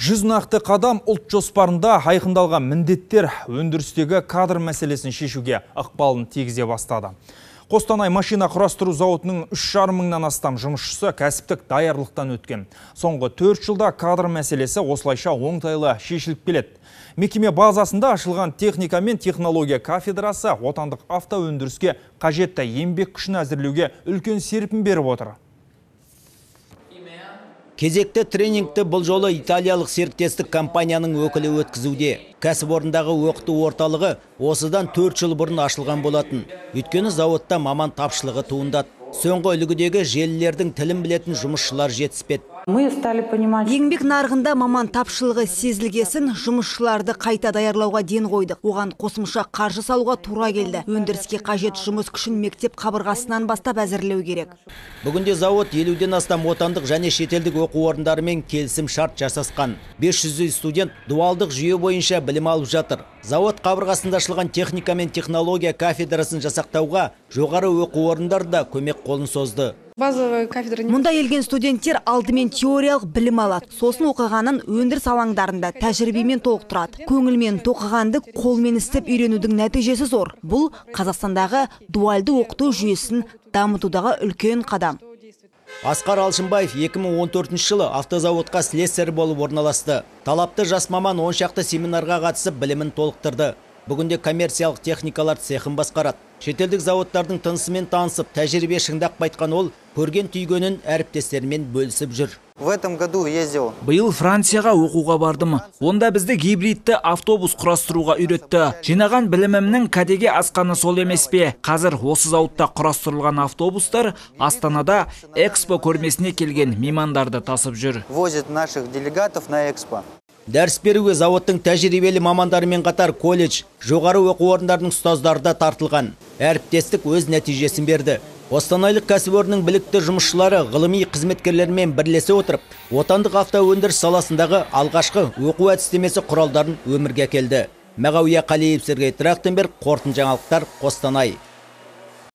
100 нақты қадам ұлт жоспарында айқындалған міндеттер өндірістегі кадр мәселесін шешуге ықпалын тигізе бастады. Қостанай машина құрастыру зауытының 3,5 мыңнан астам жұмысшысы кәсіптік даярлықтан өткен. Соңғы 4 жылда кадр мәселесі осылайша оңтайлы шешіліп келеді. Мекеме базасында ашылған техника мен технология кафедрасы отандық автоөндіріске қажетті еңбек күшін әзірлеуге үлкен серпін беріп отыр. Кезекті тренингті бұл жолы италиялық серіктестік компанияның өкілі өткізуде. Кәсіпорындағы оқыту орталығы осыдан 4 жыл бұрын ашылған болатын. Өйткені зауытта маман тапшылығы туындады. Соңғы үлгідегі желілердің тілін білетін жұмысшылар жетіспеді. Еңбек нарығында маман тапшылығы сезілгесін, жұмысшыларды қайта даярлауға ден қойдық. Оған қосымша қаржы салуға тура келді. Өндіріске қажет жұмыс күшін мектеп қабырғасынан бастап әзірлеу керек. Бүгінде зауыт 50-ден астам отандық және шетелдік оқу орындарымен келісім шарт жасасқан. 500 студент дуалдық жүйе бойынша білім алып жатыр. Зауыт қабырғасында ашылған техника мен технология кафедрасын жасақтауға жоғары оқу орындары да көмек қолын созды. Мұнда елген студенттер алдымен теориялық білім алады. Сосын оқығанын өндіріс алаңдарында тәжірибемен толықтырады. Көңілмен тоқығанды қолмен істеп үйренудің нәтижесі зор. Бұл Қазақстандағы дуальды оқыту жүйесін дамытудағы үлкен қадам. Асқар Алшынбаев 2014 жылы автозауытқа слесарь болып орналасты. Талапты жас маман 10 шақты семинарға қатысып білімін толықтырды. Бүгінде коммерциялық техникалар цехын басқарады. Шетелдік зауыттардың тынысымен танысып, тәжірибе шыңдап қайтқан ол, көрген түйгенін әріптестерімен бөлісіп жүр. Биыл Францияға оқуға бардым. Онда бізді гибридті автобус құрастыруға үйретті. Жинаған білімімнің кәдеге асқаны сол емес пе? Қазір осы зауытта құрастырылған автобустар Астанада экспо көрмесіне келген меймандарды тасып жүр. Дәріс беруге зауыттың тәжірибелі мамандарымен қатар колледж, жоғары оқу орындарының ұстаздары да тартылған. Әріптестік өз нәтижесін берді. Қостанайлық кәсіпорынның білікті жұмысшылары ғылыми қызметкерлермен бірлесе отырып, отандық автоөндіріс саласындағы алғашқы оқу әдістемесі құралдарын өмірге әкелді. Мағауия Қалиев, Сергей Трахтенберг, қорытынды жаңалықтар, Қостанай.